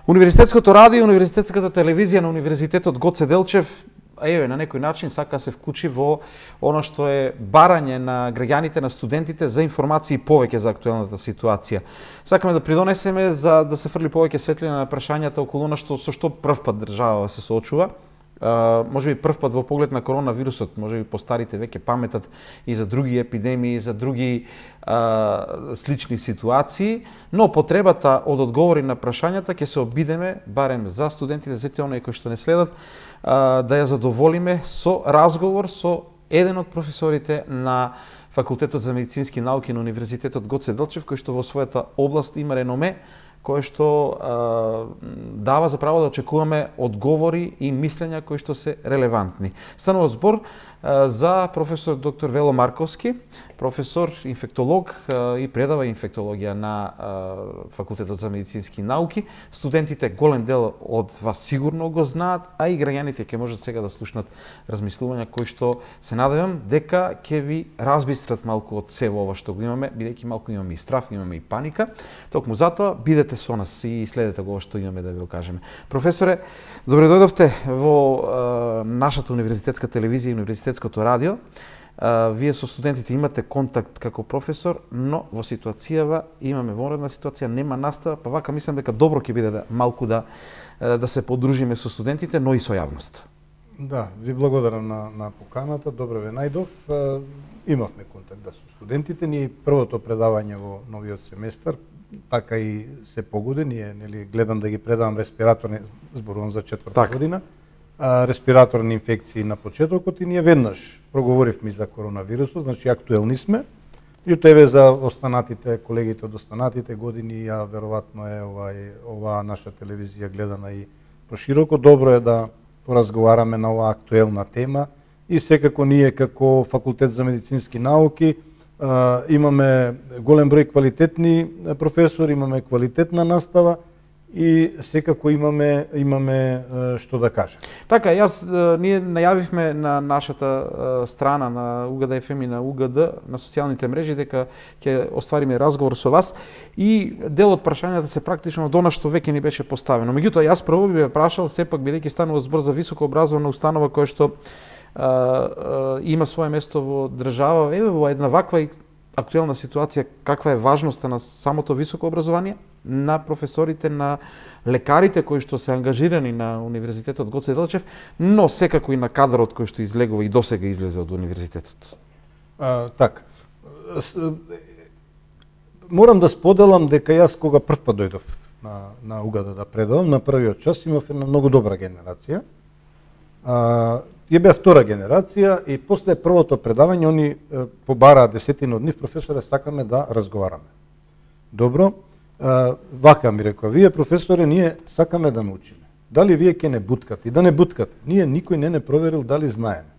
Универзитетското радио, универзитетската телевизија на Универзитетот Гоце Делчев, на некој начин сака се вклучи во она што е барање на граѓаните, на студентите за информации повеќе за актуелната ситуација. Сакаме да придонесеме за да се фрли повеќе светлина на прашањата околу она со што првпат држава се соочува. Може би првпат во поглед на коронавирусот, може би постарите веќе паметат и за други епидемии, за други слични ситуации, но потребата од одговори на прашањата ќе се обидеме, барем за студентите, за тие оние кои што не следат, да ја задоволиме со разговор со еден од професорите на Факултетот за медицински науки на Универзитетот Гоце Делчев, кој што во својата област има реноме, кој што дава за право да очекуваме одговори и мислења кои што се релевантни. Станува збор за професор доктор Вело Марковски, професор инфектолог и предава инфектологија на Факултетот за медицински науки. Студентите, голем дел од вас сигурно го знаат, а и граѓаните ќе можат сега да слушнат размислувања кои што се надевам дека ќе ви разбистрат малку од се ова што го имаме, бидејќи малку имаме и страв, имаме и паника. Токму затоа бидете со нас и следете го што имаме да ви го кажеме. Професоре, добре дојдовте во нашата универзитетска телевизија и универзитетското радио. Вие со студентите имате контакт како професор, но во ситуацијава имаме вонредна ситуација, нема настава, па вака мислам дека добро ќе биде малку да се подружиме со студентите, но и со јавноста. Да, ви благодарам на поканата, добро ве најдов. Имавме контакт со студентите, ние првото предавање во новиот семестар, така и се погоди, ние гледам да ги предавам респираторни, зборувам за четврта година, респираторни инфекции на почетокот и ние веднаш проговоривме за коронавирусот, значи актуелни сме. И тебе за останатите, колегите од останатите години, ја веројатно е оваа наша телевизија гледана и прошироко. Добро е да поразговараме на оваа актуелна тема и секако ние како Факултет за медицински науки имаме голем број квалитетни професори, имаме квалитетна настава и секако имаме што да кажем. Така, ние најавивме на нашата страна на УГД ФМ и на УГД на социјалните мрежи дека ќе оствариме разговор со вас и дел од прашањата се практично до нас што веќе ни беше поставено. Меѓутоа, јас прво би ве прашал, сепак бидејќи станува збор за високообразована установа која што има свое место во држава, во една ваква актуелна ситуација, каква е важноста на самото високо образование, на професорите, на лекарите кои што се ангажирани на Универзитетот Гоце Делчев, но секако и на кадрот кој што излегува и досега излезе од универзитетот. Така. Морам да споделам дека јас кога првпат дојдов на УГД да предавам, на првиот час имав една многу добра генерација. Ја беа втора генерација и после првото предавање они побараа десетина од нив, професоре, сакаме да разговараме. Добро, вака ми рекоа, вие професоре, ние сакаме да научиме. Дали вие ќе не буткате? И да не буткате. Ние никој не проверил дали знаеме.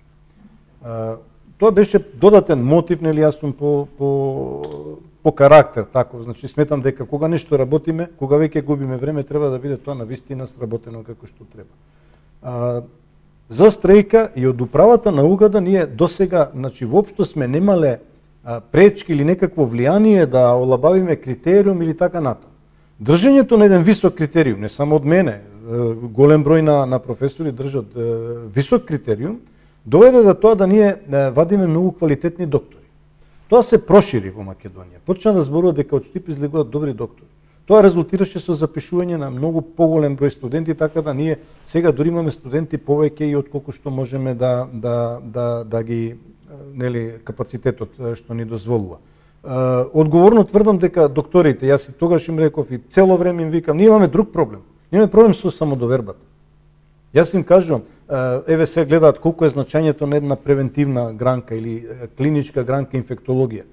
Тоа беше додатен мотив, нели, јас сум по карактер таков, значи сметам дека кога нешто работиме, кога веќе губиме време, треба да биде тоа навистина сработено како што треба. За стрејка и од управата на УГД ние досега, значи воопшто сме немале пречки или некакво влијание да олабавиме критериум или така натаму. Држењето на еден висок критериум, не само од мене, голем број на професори држат висок критериум, доведе до тоа да ние вадиме многу квалитетни доктори. Тоа се прошири во Македонија. Почна да зборува дека од Штип излегуваат добри доктори. Тоа резултираше со запишување на многу поголем број студенти, така да ние сега дури имаме студенти повеќе и отколку што можеме да ги, нели, капацитетот што ни дозволува. Одговорно тврдам дека докторите, јас и тогаш им реков и цело време им викам, ние имаме друг проблем. Ние имаме проблем со самодовербата. Јас им кажувам, еве се гледаат колку е значењето на една превентивна гранка или клиничка гранка инфектологија.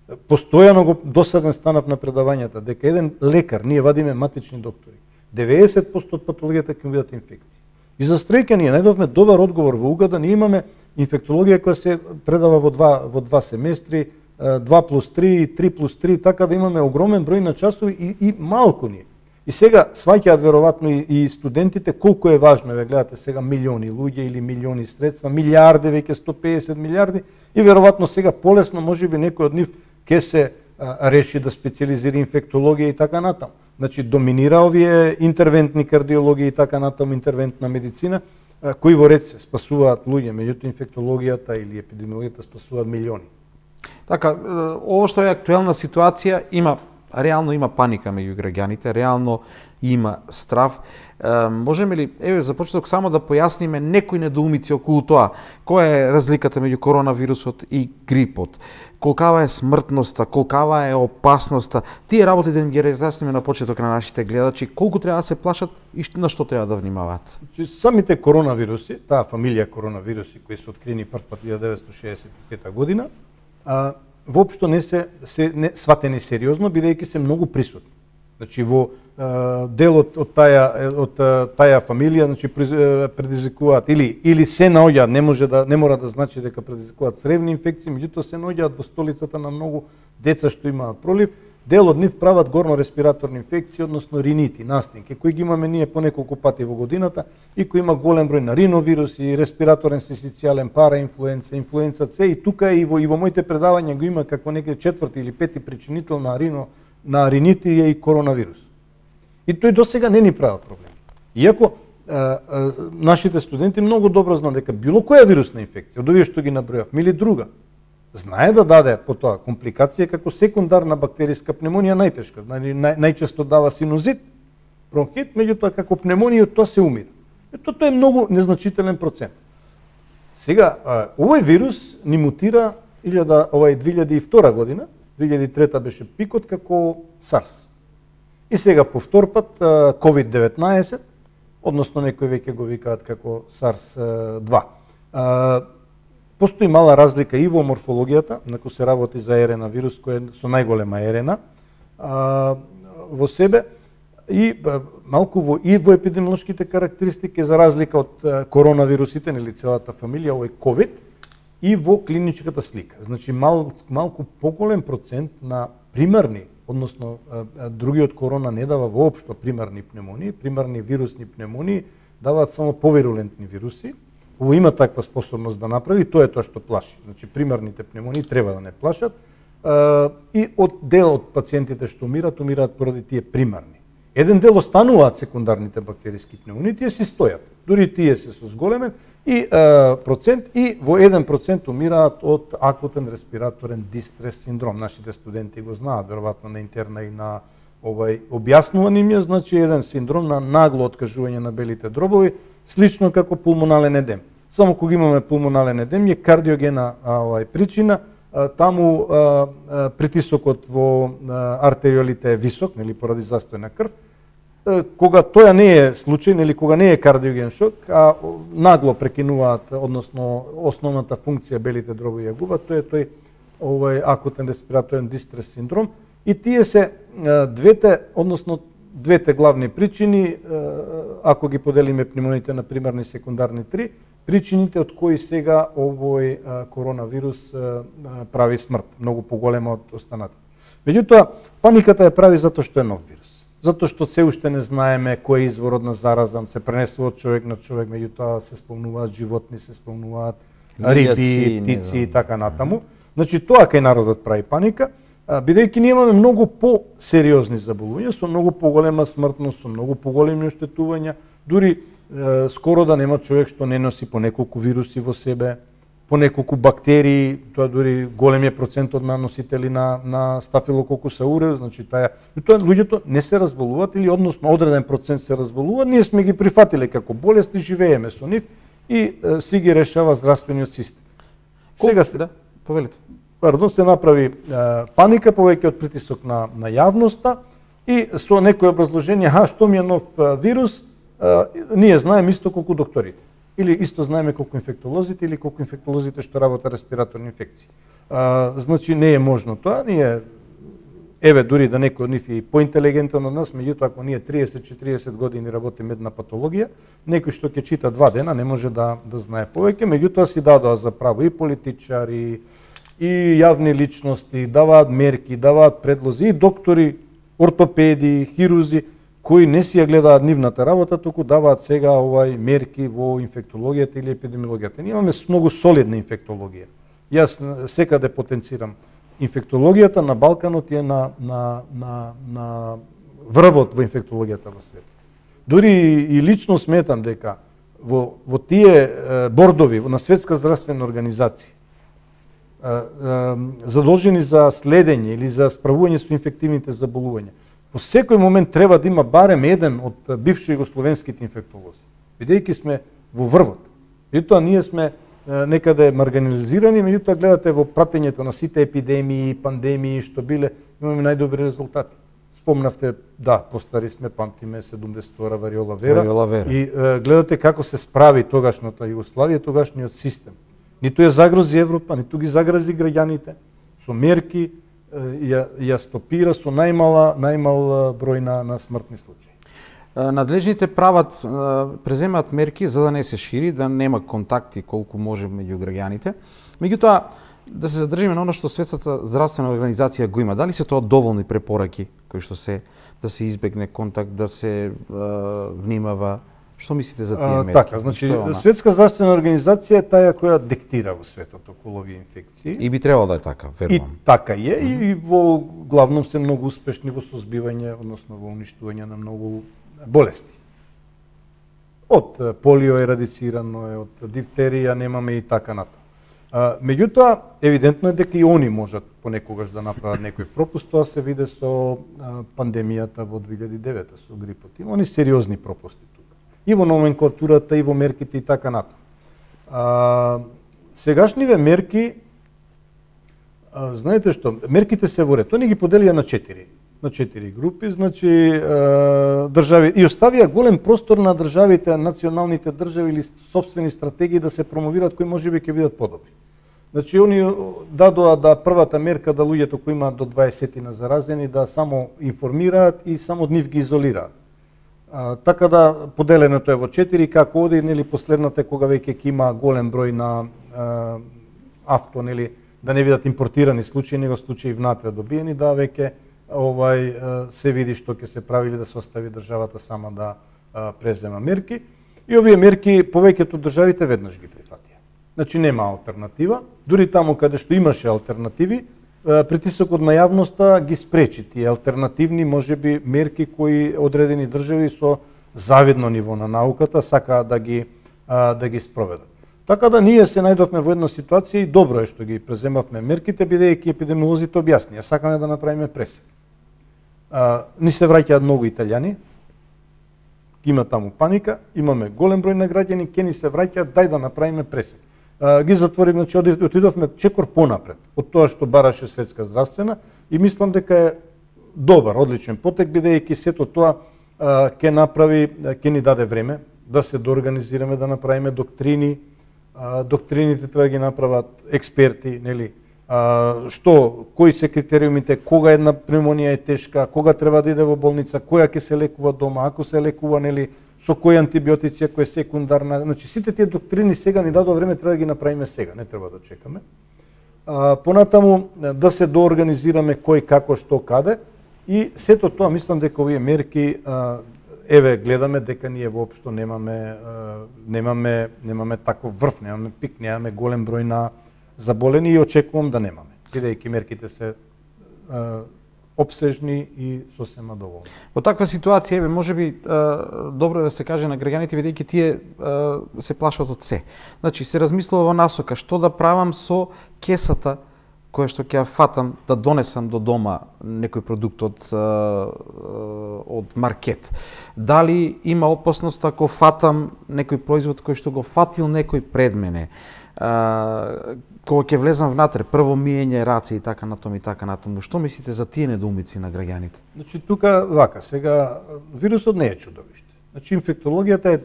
Постојано го досаден станав на предавањата, дека еден лекар, ние вадиме матични доктори, 90% од патологијата ќе видат инфекции. И за стрејка ние најдовме добар одговор во УГД, ние имаме инфектологија која се предава во два семестри, 2+3, 3+3, така да имаме огромен број на часови и малку ние. И сега сваќаат веројатно и студентите колку е важно, ве гледате сега милиони луѓе или милиони средства, милиарди, веќе 150 милиарди и веројатно сега полесно можеби некој од нив ќе се реши да специализира инфектологија и така натаму. Значи доминира овие интервентни кардиологија и така натаму интервентна медицина, кои во ред се спасуваат луѓе, меѓутоа инфектологијата или епидемиологијата спасуваат милиони. Така, ово што е актуелна ситуација, реално има паника меѓу граѓаните, реално има страв. Можеме ли, за почеток, само да појасниме некои недоумици околу тоа? Која е разликата меѓу коронавирусот и грипот? Колкава е смртноста, колкава е опасноста? Тие работи да им ги разјасниме на почеток на нашите гледачи, колку треба да се плашат и на што треба да внимаваат? Самите коронавируси, таа фамилија коронавируси кои се открини прв пат 1965 година, воопшто не се сватени сериозно, бидејќи се многу присутни. Значи во делот од таа фамилија, значи предизвикуваат или се наоѓаат, не мора да значи дека предизвикуваат цревни инфекции, меѓутоа се наоѓаат во столицата на многу деца што имаат пролив. Дел од нив прават горно-респираторни инфекции, односно ринити, настинки, кои ги имаме ние по неколку пати во годината и кои има голем број на риновируси, респираторен синцитијален параинфлуенца, инфлуенца С, и тука и во моите предавања го има како некој четврти или пети причинител на ринити е и коронавирус. И тој досега не ни правил проблем. Иако нашите студенти многу добро знаат дека било која вирусна инфекција, од овие што ги набројав, или друга, знае да даде по тоа компликација како секундарна бактериска пневмонија најтешка. Најчесто дава синузит, бронхит, меѓутоа како пневмонија од тоа се умира. Тоа е многу незначителен процент. Сега, овој вирус ни мутира 2002 година, 2003 беше пикот како SARS. И сега по втор пат COVID-19, односно некои веќе го викаат како SARS-2. Постои мала разлика и во морфологијата, нако се работи за РНА вирус кој е со најголема РНА во себе, и малку во епидемиолошките карактеристики, за разлика од коронавирусите или целата фамилија, овој COVID, и во клиничката слика. Значи малку поголем процент на примарни, односно другиот корона не дава воопшто примарни пневмонии, примарни вирусни пневмонии даваат само повирулентни вируси. Ово има таква способност да направи, тоа е тоа што плаши. Значи примарните пневмонии треба да не плашат, и од дел од пациентите што умираат поради тие примарни. Еден дел остануваат секундарните бактериски пневмонии, тие си стојат. Дури тие се со зголемен и процент, и во 1% умираат од акутен респираторен дистрес синдром. Нашите студенти го знаат, веројатно на интерна и на објаснуван им е, значи еден синдром на нагло откажување на белите дробови, слично како пулмонален едем. Само кога имаме пулмонален едем е кардиогена причина, таму притисокот во артериолите е висок, нели, поради застој на крв. Кога тоа не е случај, нели, кога не е кардиоген шок, а нагло прекинуваат, односно основната функција белите дробови ја губат, тоа е тој акутен респираторен дистрес синдром. И тие се двете главни причини, ако ги поделиме пневмониите на примарни и секундарни 3, причините од кои сега овој коронавирус прави смрт, многу поголема од останатите. Меѓутоа, паниката ја прави затоа што е нов вирус. Затоа што се уште не знаеме кој е изворот на зараза, се пренесува од човек на човек, меѓутоа се спомнуваат животни, се спомнуваат риби, птици и така натаму. Значи тоа кај народот прави паника, бидејќи ние имаме многу по-сериозни заболувања, со многу поголема смртност, со многу поголеми оштетувања, дури скоро да нема човек што не носи по неколку вируси во себе, по неколку бактерии, тоа дури големиот процент од наносители на стафилококус ауреус, значи тоа луѓето не се разболуваат или односно одреден процент се разболуваат, ние сме ги прифатиле како болест и живееме со нив и си ги решава здравствениот систем. Сега се повелите. Се направи паника повеќе од притисок на јавноста и со некој образложение, што ми е нов вирус, ние знаеме исто колку докторите. Или исто знаеме колку инфектолозите, или колку инфектолозите што работат респираторни инфекции. Значи не е можно тоа, ние дури да некој од нив е поинтелигентен од нас, меѓутоа ако ние 30-40 години работиме една патологија, некој што ќе чита 2 дена не може да знае повеќе, меѓутоа си дадоа за право и политичари, и јавни личности, даваат мерки, даваат предлози, и доктори, ортопеди, хирузи, кои не си ја гледаат нивната работа, туку даваат сега мерки во инфектологијата или епидемиологијата. Ние имаме многу солидна инфектологија. Јас секаде потенцирам инфектологијата на Балканот е на врвот во инфектологијата во светот. Дури и лично сметам дека во тие бордови на Светска здравствена организација задолжени за следење или за справување со инфективните заболувања, во секој момент треба да има барем еден од бивши југословенските инфектолози, бидејќи сме во врвот. Меѓутоа ние сме некаде маргинализирани, меѓутоа гледате во пратењето на сите епидемии, пандемии што биле, имаме најдобри резултати. Спомнавте, да, постари сме, памтиме 70-тора вариола вера. И гледате како се справи тогашната Југославија, тогашниот систем. Ниту ја загрози Европа, ниту ги загрози граѓаните, со мерки ја стопира со најмал број на смртни случаи. Надлежните преземаат мерки за да не се шири, да нема контакти колку може меѓу граѓаните. Меѓутоа, да се задржиме на оно што Светската здравствена организација го има. Дали се тоа доволни препораки кои што се да се избегне контакт, да се внимава? Што мислите за тие мерки? Така, значи Светска здравствена организација е таа која диктира во светот околу овие инфекции. И би требало да е така, верувам. И така е, и во главном се многу успешни во созбивање, односно во уништување на многу болести. Од полио ерадицирано е, од дифтерија немаме и така натаму. Меѓутоа, евидентно е дека и они можат понекогаш да направат некој пропуст, тоа се виде со пандемијата во 2009 со грипот. Има они сериозни пропусти тука. И во номенклатурата, и во мерките и така натаму. Сегашниве мерки, знаете што, мерките се во ред. Тоа ни ги поделија на 4 групи, значи држави и оставија голем простор на државите, националните држави или сопствени стратегии да се промовираат кои можеби ќе бидат подобри. Значи они дадоа да првата мерка да луѓето кои имаат до 20 на заразени да само информираат и само од нив ги изолираат. Така да поделеното е во 4 како оди, нели последната кога веќе ќе има голем број на авто, нели да не бидат импортирани случаи, него случаи внатре добиени, да веќе се види што ќе се прави или да се остави државата сама да презема мерки. И овие мерки повеќето државите веднаш ги прифатија. Значи нема алтернатива. Дури таму каде што имаше алтернативи, притисокот на јавноста ги спречи тие алтернативни можеби мерки кои одредени држави со завидно ниво на науката сакаат да ги спроведат. Така да ние се најдовме во една ситуација и добро е што ги преземавме мерките, бидејќи епидемиолозите објаснија, сакаме да направиме пресек. Ни се враќаат многу италијани, има таму паника, имаме голем број на граѓани, ќе ни се враќаат, дај да направиме пресек. Ги затворим, значи отидовме чекор понапред од тоа што бараше Светска здравствена и мислам дека е добар, одличен потек, бидејќи сето тоа ќе ни даде време да се доорганизираме, да направиме доктрини, доктрините треба да ги направат експерти, нели? Кои се критериумите, кога една пневмонија е тешка, кога треба да иде во болница, која ќе се лекува дома, ако се лекува, нели, со кои антибиотици, ако е секундарна, значи сите тие доктрини сега ни дадува време, треба да ги направиме сега, не треба да чекаме. Понатаму да се доорганизираме кој како што каде и сето тоа мислам дека овие мерки еве гледаме дека ние воопшто немаме таков врв, немаме пик, немаме голем број на заболени и очекувам да немаме, бидејќи мерките се обсежни и сосема доволни. Во таква ситуација, можеби добро да се каже на граѓаните, бидејќи тие се плашат од се. Значи, се размислува во насока што да правам со кесата која што ќе ја фатам да донесам до дома некој продукт од маркет. Дали има опасност ако фатам некој производ кој што го фатил некој пред мене? Кога ќе влезам внатре, прво миење раце и така натаму. Што мислите за тие недоумици на граѓаните? Значи тука вака, сега вирусот не е чудовиште. Значи инфектологијата е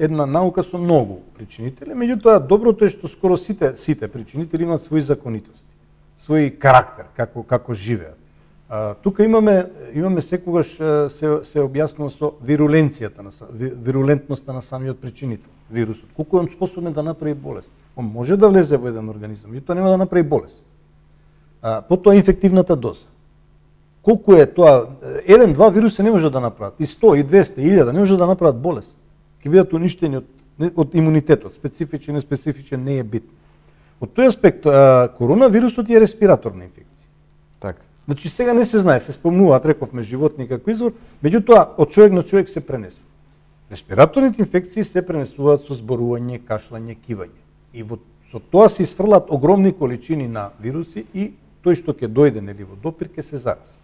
една наука со многу причинители, меѓутоа доброто е што скоро сите причинители имаат своји законитости, свој карактер како живеат. Тука имаме секогаш се објаснува со вирулентноста на самиот причинител, вирусот. Колку е он способен да направи болест? Он може да влезе во еден организам, и тоа нема да направи болест. Потоа инфективната доза. Колку е тоа? 1-2 вируси не може да направат, и 100, и 200, и 1000 не може да направат болест. Ќе бидат уништени од имунитетот, специфичен, неспецифичен не е битно. Од тој аспект коронавирусот е респираторна инфекција. Така. Значи сега не се знае, се спомнуваат, рековме, животни како извор, меѓутоа од човек на човек се пренесува. Респираторните инфекции се пренесуваат со зборување, кашлање, кивање. И со тоа се изфрлат огромни количини на вируси и тој што ќе дојде нели во допир ќе се зарази.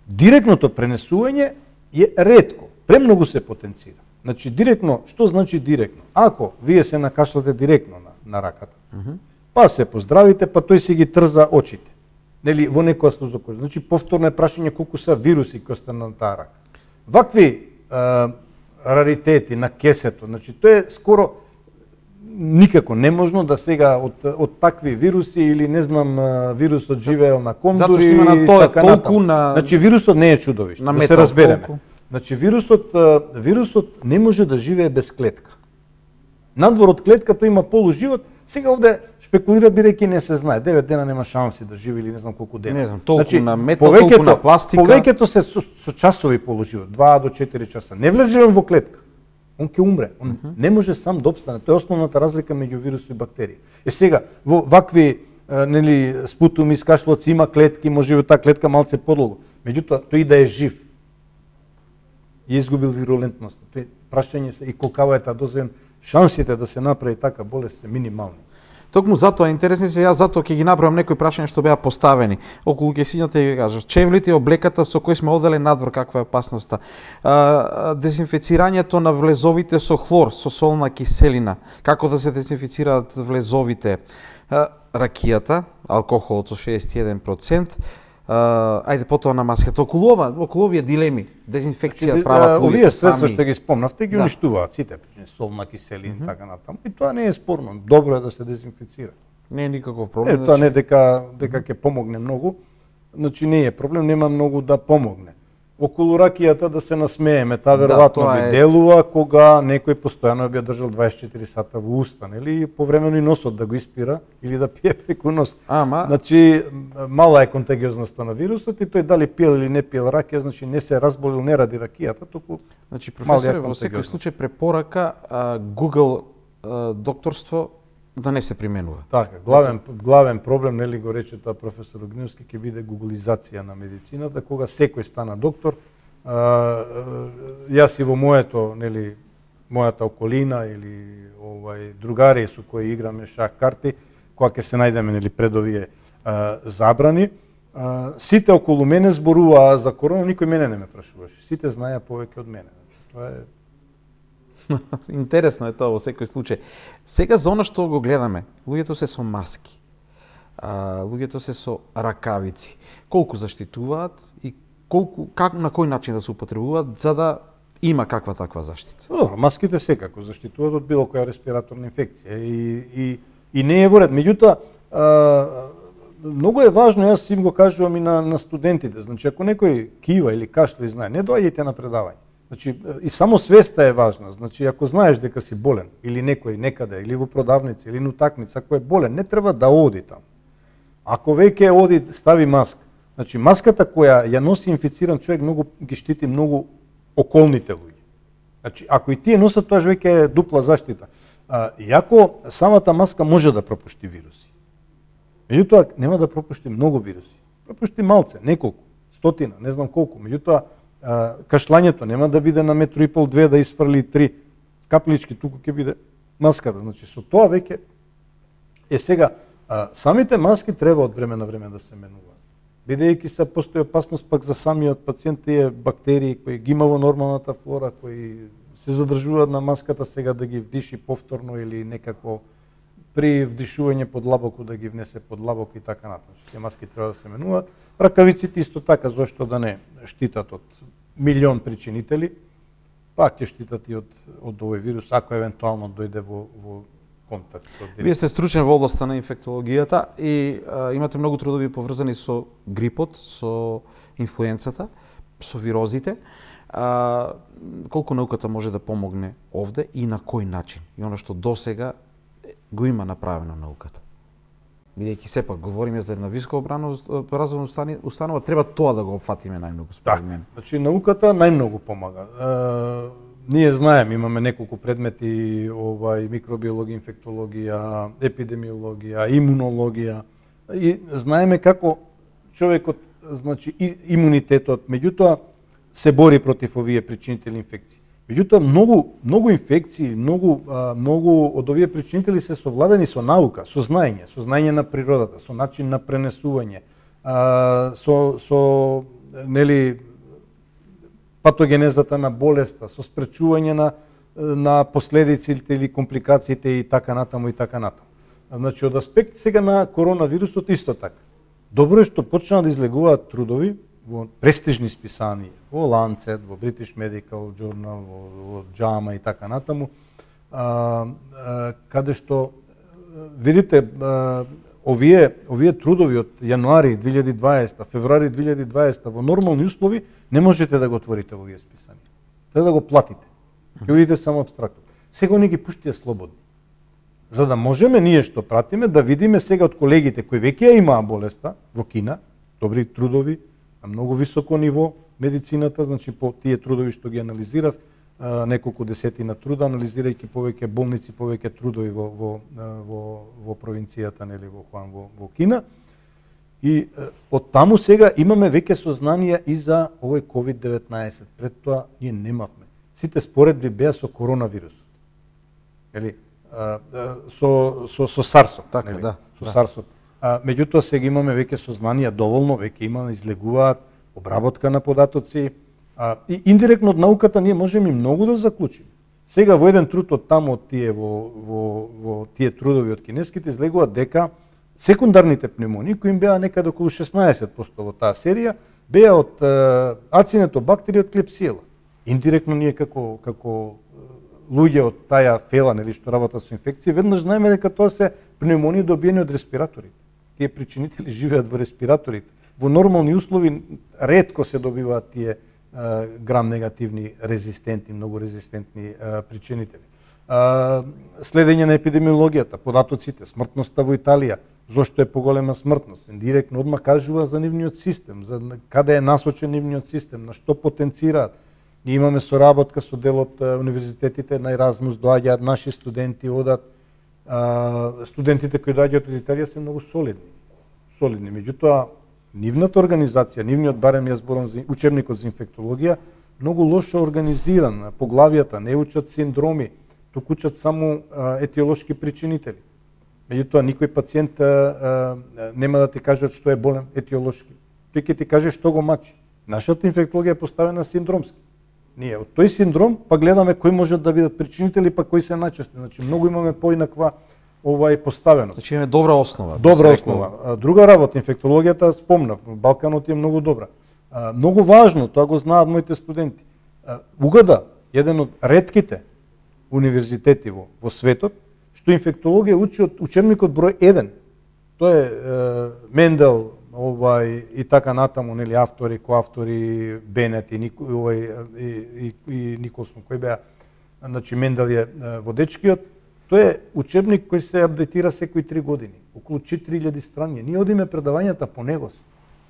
Директното пренесување е ретко, премногу се потенцира. Значи директно, што значи директно? Ако вие се накашлате директно на раката, па се поздравите, па тој си ги трза очите. Нели во некоја слузокожа. Значи повторно е прашање колку се вируси кои се на таа рака. Вакви раритети на кесето, значи тоа е скоро никако неможно да сега од такви вируси или не знам вирусот живеел на кондури и така натаму. Значи вирусот не е чудовиште, да се разбереме. Значи вирусот не може да живее без клетка. Надвор од клетката има полуживот. Сега овде шпекулираат бидејќи не се знае. 9 дена нема шанси да живее или не знам колку дена. Не знам, толку на метал, толку на пластика. Повеќето се со часови полуживот, 2 до 4 часа. Не влезе он во клетка. Он ќе умре. Он не може сам да опстане. Тоа е основната разлика меѓу вирус и бактерија. Сега во вакви нели спутуми, скашлоци има клетки, може и таа клетка малце подолго. Меѓутоа тој да е жив и изгубил вирулентност. Тој прашање се и колкава е таа доза, шансите да се направи така болест се минимални. Токму затоа интересни се, јас затоа ќе ги направам некои прашања што беа поставени. Околу ќесињата и ви кажав, чевлите и облеката со кои сме оделе надвор, каква е опасноста. Дезинфицирањето на влезовите со хлор, со солна киселина, како да се дезинфицираат влезовите. Ракијата, алкохолот со 61%, ајде потоа на маската. Околу овие дилеми, дезинфекција прават луѓето сами. Овие средства што ги спомнавте ги уништуваат сите, солна киселина така натаму. И тоа не е спорно. Добро е да се дезинфицира. Не е никаков проблем. Тоа не дека ќе помогне многу. Значи не е проблем, нема многу да помогне. Околу ракијата да се насмееме, таа веројатно би делува кога некој постојано би ја држал 24 сата во уста, нели, повремено и носот да го испира или да пие преку нос. Значи мала е контагиозноста на вирусот и тој дали пиел или не пиел ракија, значи не се разболил не ради ракијата, туку значи професоре, во секој случај препорака Google докторство да не се применува. Така, главен проблем, нели го рече тоа професор Огневски, ќе биде гуглизација на медицината, кога секој стана доктор. Јас и во мојата околина или другари со кои играме шах карти, кога ќе се најдеме нели пред овие забрани, сите околу мене зборуваа за корона, никој мене не ме прашуваше. Сите знаеа повеќе од мене. Тоа е интересно е тоа во секој случај. Сега за она што го гледаме, луѓето се со маски, луѓето се со ракавици. Колку заштитуваат и на кој начин да се употребуваат за да има каква таква заштита? Добро, маските секако заштитуваат од било која респираторна инфекција и не е во ред. Меѓутоа, многу е важно, јас им го кажувам и на студентите, значи ако некој кива или кашля и знае, не доаѓајте на предавање. Значи, и само свеста е важна. Значи, ако знаеш дека си болен, или некој некаде, или во продавница, или на утакмица, ако е болен, не треба да оди таму. Ако веќе оди, стави маска. Значи, маската која ја носи инфициран човек многу ги штити многу околните луѓе. Значи, ако и тие носат, тоа веќе е дупла заштита. Иако самата маска може да пропушти вируси. Меѓутоа, нема да пропушти многу вируси. Пропушти малце, неколку, стотина, не знам колку. Меѓутоа, кашлањето нема да биде на 1,5-2 да изфрли 3 каплички, туку ќе биде маската. Значи со тоа веќе сега самите маски треба од време на време да се менуваат. Бидејќи се постои опасност пак за самиот пациент, тие бактерии кои ги има во нормалната флора, кои се задржуваат на маската, сега да ги вдиши повторно или некако при вдишување подлабоко да ги внесе подлабоко и така натаму. Тие маски треба да се менуваат. Ракавиците исто така, зошто да не штитат од милион причинители, пак ќе штитат и од овој вирус, ако евентуално дојде во контакт. Вие сте стручен во областа на инфектологијата и имате многу трудови поврзани со грипот, со инфлуенцата, со вирозите. Колку науката може да помогне овде и на кој начин? И оно што досега го има направено науката. Бидејќи сепак говориме за една високообразовна установа, треба тоа да го опфатиме најмногу според мене. Значи науката најмногу помага. Ние знаеме, имаме неколку предмети, микробиологија, инфектологија, епидемиологија, имунологија и знаеме како човекот, значи имунитетот, меѓутоа се бори против овие причинители инфекции. Меѓутоа многу инфекции, многу од овие причинители се совладени со наука, со знаење на природата, со начин на пренесување, со нели патогенезата на болеста, со спречување на последиците или компликациите и така натаму и така натаму. Значи од аспект сега на коронавирусот исто така. Добро е што почнаа да излегуваат трудови во престижни списанија, во Lancet, во British Medical Journal, во JAMA и така натаму, каде што видите овие трудови од јануари 2020, февруари 2020 во нормални услови не можете да го отворите во овие списанија. Треба да го платите. Ќе видите само апстрактно. Сега не ги пуштија слободни. За да можеме ние што пратиме да видиме сега од колегите кои веќе ја имаа болеста во Кина, добри трудови на многу високо ниво медицината, значи по тие трудови што ги анализирав, неколку десетина труда, анализирајќи повеќе болници, повеќе трудови во провинцијата, нели во Хуан, во Кина. И од таму сега имаме веќе сознанија и за овој COVID-19. Пред тоа ние немавме. Сите споредби беа со коронавирусот. Или со SARS-от, така, нели? Да, со SARS-от. Меѓутоа сега имаме веќе сознанија доволно, веќе имаме излегуваат обработка на податоци, и индиректно од науката ние можеме и многу да заклучиме. Сега во еден труд од таму од тие во тие трудови од кинеските излегува дека секундарните пневмонии кои им беа некаде околу 16% во таа серија беа од ацинетобактерија од клепсиела. Индиректно ние како луѓе од таја фела, нели, што работат со инфекции, веднаш знаеме дека тоа се пневмонии добиени од респираторите. Тие причинители живеат во респираторите. Во нормални услови ретко се добиваат тие грам-негативни резистентни, многу резистентни причинители. Следење на епидемиологијата, податоците, смртноста во Италија, зошто е поголема смртност, индиректно одма кажува за нивниот систем, за каде е насочен нивниот систем, на што потенцираат. Ние имаме соработка со дел од универзитетите на Еразмус, доаѓаат наши студенти, одат. Студентите кои доаѓаат од Италија се многу солидни. Меѓутоа, нивната организација, нивниот, барем ја зборам за учебникот за инфектологија, многу лошо организиран, поглавијата, не учат синдроми, туку учат само етиолошки причинители. Меѓутоа, никој пациент нема да ти кажат што е болен етиолошки. Тој ќе ти каже што го мачи. Нашата инфектологија е поставена синдромски. Ние од тој синдром па гледаме кои можат да бидат причинители, па кои се најчести. Значи многу имаме поинаква поставеност. Значи имаме добра основа. Добра основа. Друга работа, инфектологијата спомнав, Балканот е многу добра. Многу важно, тоа го знаат моите студенти. УГД, еден од ретките универзитети во светот, што инфектологија учи од учебникот број 1. Тоа е Мендел, и така натаму, нели, автори, коавтори, Бенет и Николсон, кој беа, значи Мендел е водечкиот. Тоа е учебник кој се апдейтира секои 3 години, околу 4000 страни. Ние одиме предавањата по него.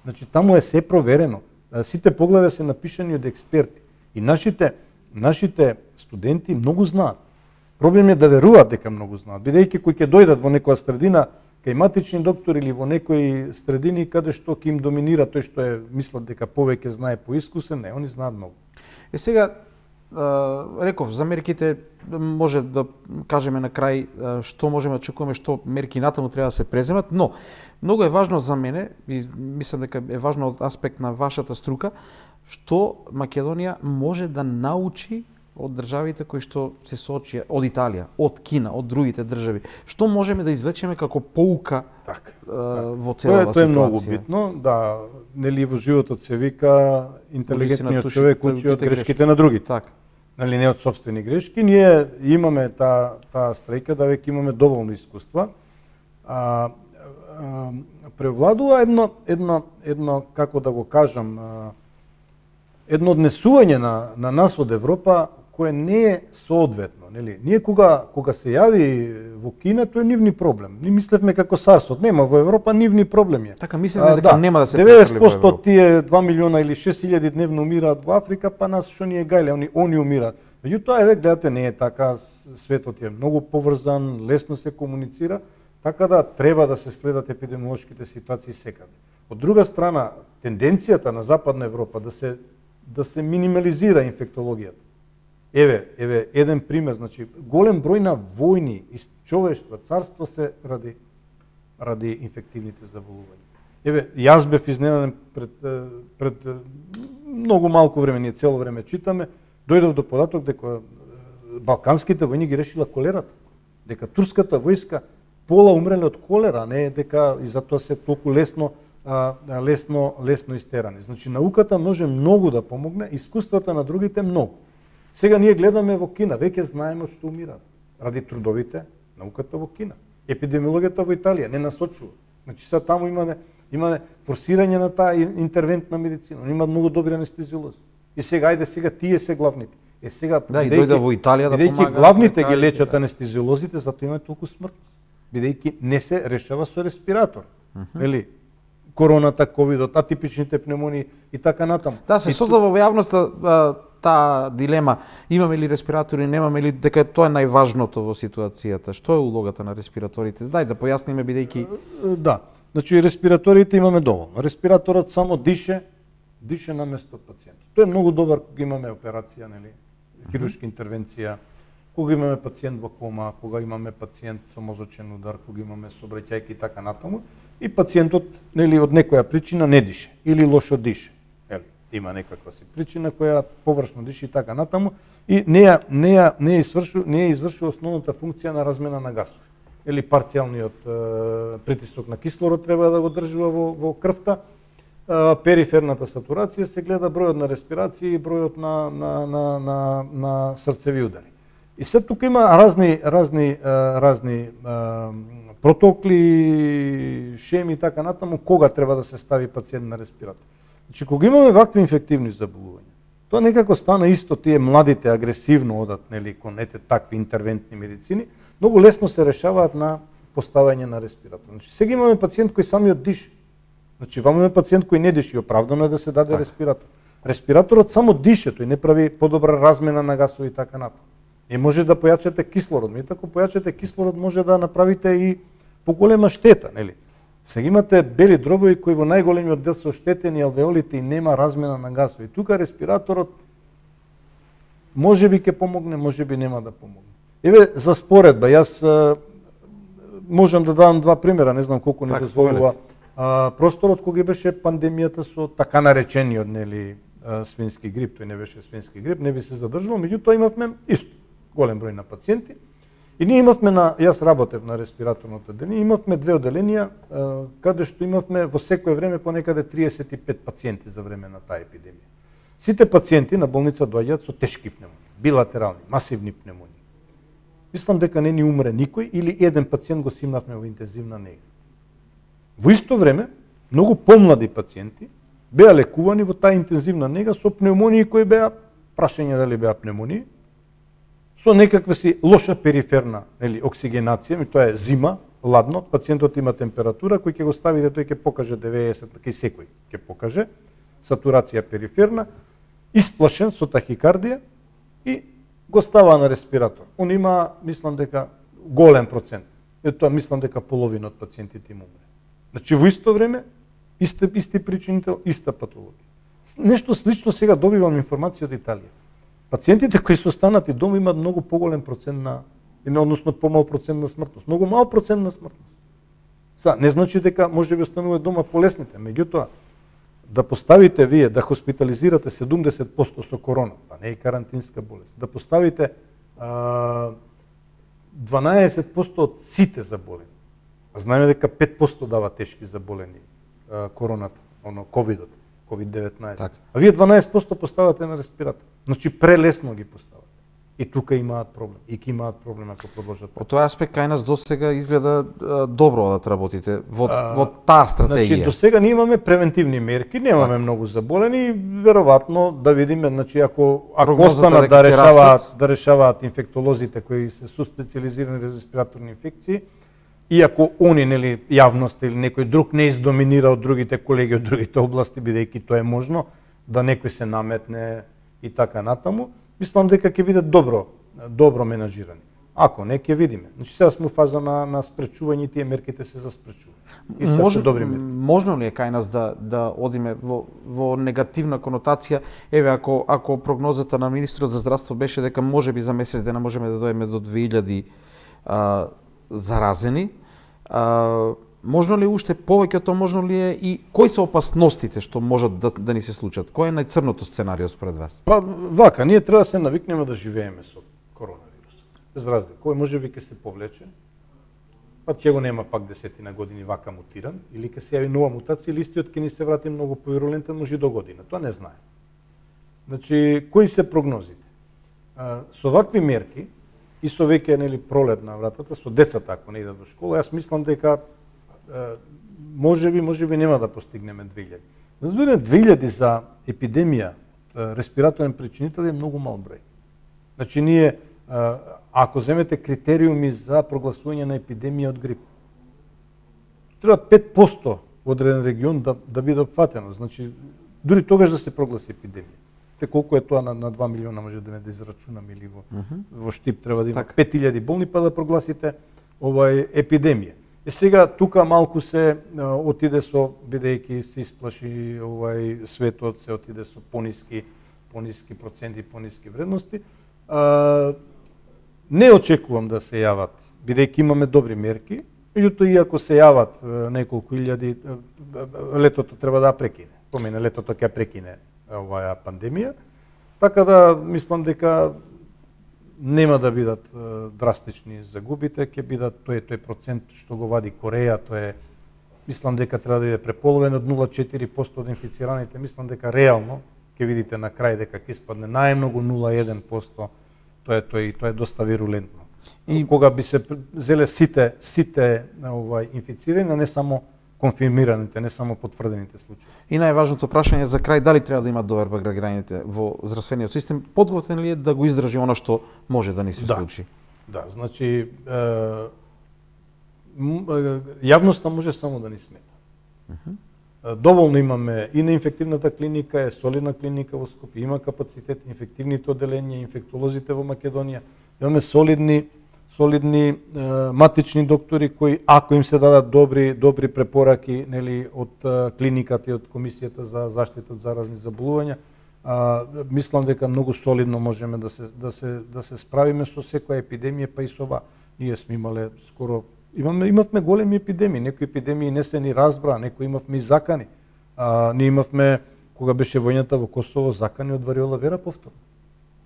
Значи таму е се проверено. Сите поглави се напишани од експерти. И нашите студенти многу знаат. Проблем е да веруваат дека многу знаат, бидејќи кои ќе дојдат во некоја средина кај матични доктор или во некои средини каде што ќе им доминира тој што мислат дека повеќе знае поискусен, не, они знаат многу. Сега реков, за мерките може да кажеме на крај што можеме да очекуваме, што мерки натаму треба да се преземат, но многу е важно за мене, и мислам дека е важно од аспект на вашата струка, што Македонија може да научи од државите кои што се соочија, од Италија, од Кина, од другите држави. Што можеме да извлечеме како поука во целава ситуација? Тоа е многу битно, да, нели во животот се вика интелигентниот човек учи од грешките на другите. Така. Нали, не од сопствени грешки. Ние имаме таа стрејка да веќе имаме доволно искуства. Превладува едно како да го кажам, едно однесување на нас од Европа кое не е соодветно, нели? Ние кога се јави во Кина, тоа е нивни проблем. Ние мислевме како SARS-от, нема во Европа нивни проблеми. Така мислевме дека нема да се 90% од тие 2 милиона или 6000 дневно умираат во Африка, па нас што ни е гајле, они умираат. Меѓутоа еве гледате, не е така, светот е многу поврзан, лесно се комуницира, така да треба да се следат епидемиолошките ситуации секаде. Од друга страна, тенденцијата на Западна Европа да се минимализира инфектологијата. Еве еден пример, значи голем број на војни из човештва, царство се ради инфективните заболувања. Еве, јас бев изненаден пред многу малку време, ние цело време читаме, дојдов до податок дека балканските војни ги решила колерата, дека турската војска пола умреле од колера, не дека и затоа се толку лесно истерани. Значи науката може многу да помогне, искуствата на другите многу. Сега ние гледаме во Кина, веќе знаеме што умираат ради трудовите науката во Кина. Епидемиологијата во Италија не насочува. Значи сега таму имаме форсирање на таа интервентна медицина, има многу добри анестезиолози. И сега тие се главните. Сега да, и дојде во Италија да помага. Главните ги лечат анестезиолозите, затоа има толку смртност. Бидејќи не се решава со респиратор. Нели? Короната, ковидот, атипичните пневмонии и така натаму. Да, се создава во јавноста таа дилема, имаме ли респиратори, немаме ли, дека тоа е најважното во ситуацијата. Што е улогата на респираторите? Дај да појасниме бидејќи да, значи респираторите имаме доволно. Респираторот само дише наместо пациентот. Тоа е многу добар кога имаме операција, нели, хируршка интервенција, кога имаме пациент во кома, кога имаме пациент со мозочен удар, кога имаме сообраќајки и така натаму, и пациентот, нели, од некоја причина не дише или лошо дише. Има некаква си причина која површно диши и така натаму, и не извршува основната функција на размена на гасови. Или парцијалниот притисок на кислород треба да го држува во крвта, периферната сатурација се гледа бројот на респирација и бројот на срцеви удари. И се тука има разни протоколи, шеми и така натаму кога треба да се стави пациент на респиратор. Значи, кога имаме вакви инфективни заболувања, тоа некако стана исто, тие младите агресивно одат, нели, кон такви интервентни медицини, многу лесно се решаваат на поставање на респиратор. Значи, сега имаме пациент кој самиот дише. Значи, имаме пациент кој не диши, оправдано е да се даде респиратор. Респираторот само дише, тој не прави подобра размена на гасови и така натаму. Не може да појачате кислород, меѓутоа ако појачате кислород може да направите и поголема штета, нели? Сега имате бели дробови кои во најголемиот дел се оштетени алвеолите и нема размена на гасови. Тука респираторот можеби ќе помогне, можеби нема да помогне. Еве за споредба, јас можам да дадам два примера, не знам колку не дозволува просторот кога беше пандемијата со така наречениот, нели, свински грип, тој не беше свински грип, не би се задржувал, меѓутоа имавме исто голем број на пациенти. И ние имавме јас работев на респираторното одделение, имавме две одделенија каде што имавме во секое време понекаде 35 пациенти за време на таа епидемија. Сите пациенти на болница доаѓаат со тешки пневмонии, билатерални, масивни пневмонии. Мислам дека не ни умре никој или еден пациент го симнавме во интензивна нега. Во исто време, многу помлади пациенти беа лекувани во таа интензивна нега со пневмонии кои беа, прашање дали беа пневмонии, со некаква си лоша периферна, нели, оксигенација, тоа е зима, ладно, пациентот има температура, кој ќе го ставите, тој ќе покаже 90, кај секој ќе покаже, сатурација периферна, исплашен со тахикардија и го става на респиратор. Он има, мислам дека, голем процент. Тоа мислам дека половина од пациентите им умре. Значи, во исто време, исти причинител, иста патологија. Нешто слично сега добивам информација од Италија. Пациентите кои се останати дома имаат многу поголем процент односно помал процент на смртност. Многу мал процент на смртност. Не значи дека може би остануваат дома полесните, меѓутоа да поставите вие да хоспитализирате 70% со корона, па не е карантинска болест, да поставите 12% од сите заболени. Знаеме дека 5% дава тешки заболени короната, ковидот. COVID-19. Так. А вие 12% поставате на респиратор. Значи прелесно ги поставате. И тука имаат проблем. И ќе имаат проблем ако продолжат. Од тој аспект кај нас досега изгледа добро да работите во таа стратегија. Значи досега ние имаме превентивни мерки, немаме многу заболени, веројатно да видиме, значи ако останат да решаваат инфектолозите кои се суспециализирани за респираторни инфекции, и ако они, нели, јавност или некој друг не издоминира од другите колеги од другите области, бидејќи тоа е можно, да некој се наметне и така натаму, мислам дека ќе биде добро менаџирани. Ако не, ќе видиме. Значи сега сме во фаза на спречување, тие мерките се за спречување. И се добри мерки. Можно ли е кај нас да одиме во негативна конотација? Еве, ако прогнозата на министрот за здравство беше дека можеби за месец дена можеме да дојдеме до 2000 заразени, можно ли уште повеќе од тоа, можно ли е и кои се опасностите што можат да ни се случат? Кој е најцрното сценарио според вас? Па вака, ние треба да се навикнеме да живееме со коронавирусот. Без разлика, кој можеби ќе се повлече, па ќе го нема пак 10 години вака мутиран, или ќе се јави нова мутација, или истиот ќе ни се врати многу повирулентен, може и до година. Тоа не знае. Значи, кои се прогнозите? Со вакви мерки и со веќе нели пролет на вратата, со децата ако не идат до школа, јас мислам дека можеби нема да постигнеме 2000. Разбира, 2000 за епидемија, респираторен причинител е многу мал број. Значи ние ако земете критериуми за прогласување на епидемија од грип, треба 5% во одреден регион да биде опфатено. Значи дури тогаш да се прогласи епидемија. Те колку е тоа на 2 милиона може да израчунаме, или во Штип треба да има 5000 болни па да прогласите епидемија. И сега тука малку се отиде со, бидејќи се исплаши светот, се отиде со пониски проценти, пониски вредности. Не очекувам да се јават, бидејќи имаме добри мерки, меѓутоа и ако се јават неколку илјади, летото треба да прекине. Помине летото ќе прекине оваа пандемија, така да мислам дека нема да бидат драстични загубите, ќе бидат тој процент што го вади Кореја, мислам дека треба да биде преполовен од 0,4% од инфицираните, мислам дека реално ќе видите на крај дека ќе испадне најмногу 0,1%, тоа е доста вирулентно. И кога би се зеле сите инфицирани, не само конфирмираните, не само потврдените случаи. И најважното прашање за крај, дали треба да имат доверба граѓаните во здравствениот систем, подготвен ли е да го издржи она што може да ни се случи? Да, значи јавноста може само да ни смета. Доволно имаме и на инфективната клиника, е солидна клиника во Скопје, има капацитет, инфективните оделенија, инфектолозите во Македонија, имаме солидни матични доктори кои, ако им се дадат добри препораки, нели, од клиниката и од Комисијата за заштита од заразни заболувања, мислам дека многу солидно можеме да се справиме со секоја епидемија, па и со ова. Ние сме имале скоро имавме големи епидемии, некои епидемии не се ни разбра, некои имавме и закани. Ние имавме, кога беше војната во Косово, закани од вариола вера повторно.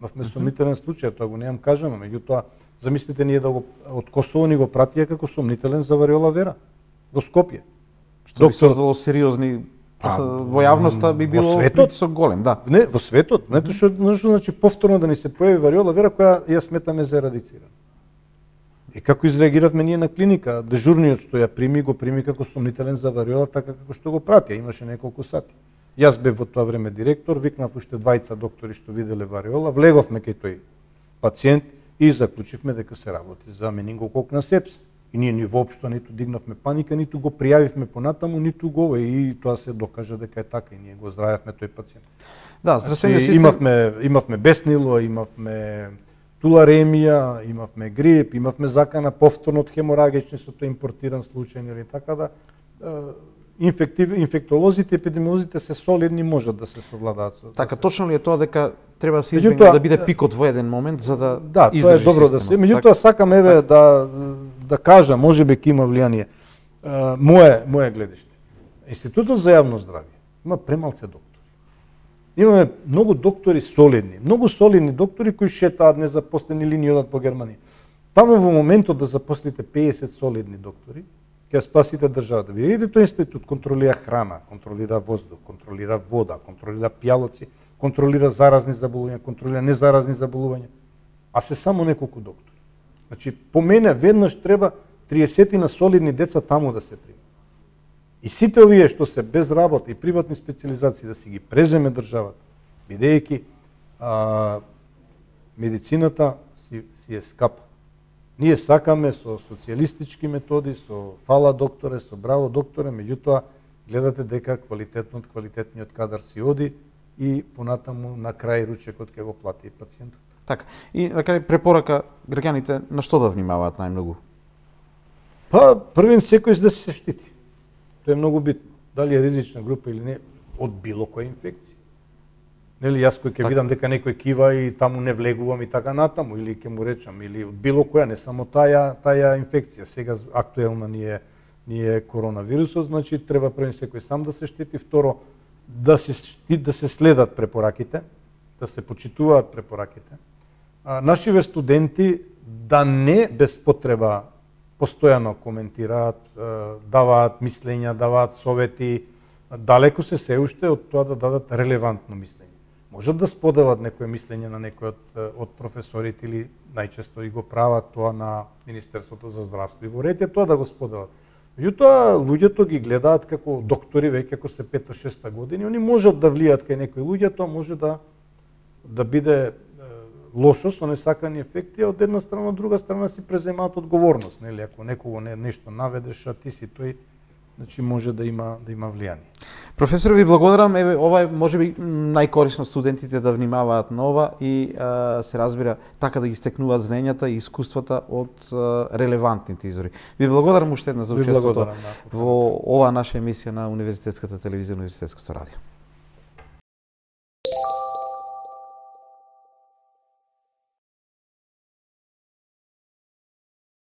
Имавме сомнителен случај, тоа го немам кажано, меѓутоа замислите ние од Косово ни го пратија како сомнителен за вариола вера во Скопје. Што би создало сериозни во јавноста би било притисок голем, да. Не, во светот, знаете што значи повторно да ни се појави вариола вера која ја сметаме за ерадицирана. И како изреагиравме ние на клиника, дежурниот што ја прими, го прими како сомнителен за вариола, така како што го пратија, имаше неколку сати. Јас бев во тоа време директор, викнав уште двајца доктори што виделе вариола, влеговме кај тој пациент и заклучивме дека се работи за менингококна сепса. И ние ни воопшто ниту дигнавме паника, ниту го пријавивме понатаму, ниту го, и тоа се докажа дека е така, и ние го здравевме тој пациент. Да, имавме беснило, имавме туларемија, имавме грип, имавме закана повторно од хеморагични со тој импортиран случај, или така да инфектолозите, епидемиолозите се солидни, можат да се совладаат. Така, точно ли е тоа дека треба да се избегне да биде пикот во еден момент за да издржи тоа е добро да се. Меѓутоа сакам еве да кажам, можеби ќе има влијание. Моје гледиште. Институтот за јавно здравје има премалце доктори. Имаме многу доктори солидни, многу солидни доктори кои шетаат незапослени или ни одат по Германија. Таму во моментот да запослите 50 солидни доктори, ќе спасите државата. Видите, тој институт контролира храна, контролира воздух, контролира вода, контролира пијалоци, контролира заразни заболувања, контролира незаразни заболувања, а се само неколку доктори. Значи, по мене веднаш треба 30 на солидни деца таму да се прими. И сите овие што се без работа и приватни специализации да си ги преземе државата, бидејќи медицината си е скапа. Ние сакаме со социјалистички методи, со фала докторе, со браво докторе, меѓутоа гледате дека квалитетниот кадар си оди и понатаму на крај ручекот ќе го плати пациентот. Така. И на крај препорака граѓаните на што да внимаваат најмногу? Па првин секој да се штити. Тоа е многу битно. Дали е ризична група или не од било која инфекција. Нели јас кој ќе видам дека некој кива и таму не влегувам и така натаму или ќе му речам или од било која, не само таа инфекција. Сега актуелна ни е коронавирусот, значи треба првин секој сам да се штити, второ да се следат препораките, да се почитуваат препораките. Нашиве студенти да не без потреба постојано коментираат, даваат мислења, даваат совети, далеку се уште од тоа да дадат релевантно мислење. Можат да споделат некое мислење на некој од професорите или најчесто и го прават тоа на Министерството за здравство и во ред е тоа да го споделат. Меѓутоа, луѓето ги гледаат како доктори веќе како се 5-6 години, они можат да влијат кај некои луѓе, тоа може да биде лошо со несакани ефекти, а од една страна, од друга страна си преземаат одговорност, нели, ако некого нешто наведеш, а ти си тој, значи може да има влијание. Професор, ви благодарам. Еве, ова е можеби најкорисно студентите да внимаваат на ова и се разбира така да ги стекнуваат знаењата и искуствата од релевантните извори. Ви благодарам уште една за учеството во ова наша емисија на Универзитетската телевизија, Универзитетското радио.